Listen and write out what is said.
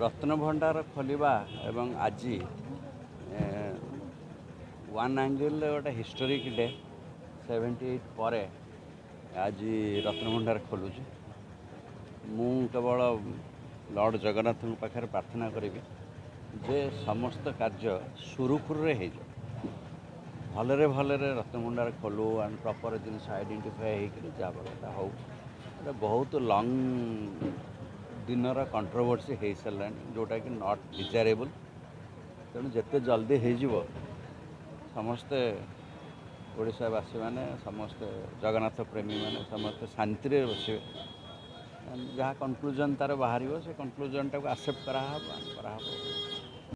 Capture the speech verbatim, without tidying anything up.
ରତ୍ନଭଣ୍ଡାର ଖୋଲିବା ଏବଂ ଆଜି ୱାନ୍ ଆଙ୍ଗେଲରେ ଗୋଟେ ହିଷ୍ଟୋରିକ୍ ଡେ। ସେଭେଣ୍ଟି ଏଇଟ୍ ପରେ ଆଜି ରତ୍ନଭଣ୍ଡାର ଖୋଲୁଛି। ମୁଁ କେବଳ ଲର୍ଡ଼ ଜଗନ୍ନାଥଙ୍କ ପାଖରେ ପ୍ରାର୍ଥନା କରିବି ଯେ ସମସ୍ତ କାର୍ଯ୍ୟ ସୁରୁଖୁରୁରେ ହେଇଯାଉ, ଭଲରେ ଭଲରେ ରତ୍ନଭଣ୍ଡାର ଖୋଲୁ ଆଣ୍ଡ ପ୍ରପର୍ ଜିନିଷ ଆଇଡେଣ୍ଟିଫାଏ ହେଇକରି ଯାହା କଥା ହଉ। ଗୋଟେ ବହୁତ ଲଙ୍ଗ୍ ଦିନର କଣ୍ଟ୍ରୋଭର୍ସି ହେଇସାରିଲାଣି, ଯେଉଁଟାକି not ଡିଜାରେବୁଲ୍। ତେଣୁ ଯେତେ ଜଲ୍ଦି ହେଇଯିବ, ସମସ୍ତେ ଓଡ଼ିଶାବାସୀମାନେ, ସମସ୍ତେ ଜଗନ୍ନାଥ ପ୍ରେମୀମାନେ ସମସ୍ତେ ଶାନ୍ତିରେ ବସିବେ। ଯାହା କନକ୍ଲୁଜନ୍ ତା'ର ବାହାରିବ, ସେ କନକ୍ଲୁଜନ୍ଟାକୁ ଆକ୍ସେପ୍ଟ କରାହେବ କରାହେବ।